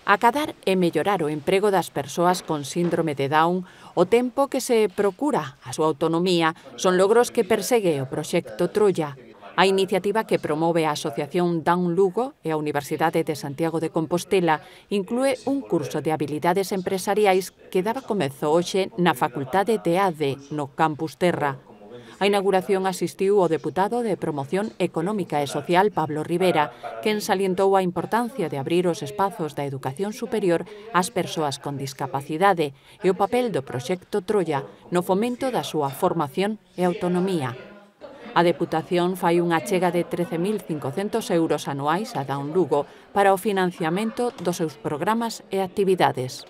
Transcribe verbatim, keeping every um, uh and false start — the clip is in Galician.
Acadar e mellorar o emprego das persoas con síndrome de Down, o tempo que se procura a súa autonomía, son logros que persegue o proxecto Troia. A iniciativa que promove a Asociación Down Lugo e a Universidade de Santiago de Compostela inclúe un curso de habilidades empresariais que daba comezo hoxe na Facultade de A D no Campus Terra. A inauguración asistiu o deputado de Promoción Económica e Social Pablo Rivera, quen salientou a importancia de abrir os espazos da educación superior ás persoas con discapacidade e o papel do proxecto Troia no fomento da súa formación e autonomía. A Deputación fai unha achega de trece mil cincocentos euros anuais a Down Lugo para o financiamento dos seus programas e actividades.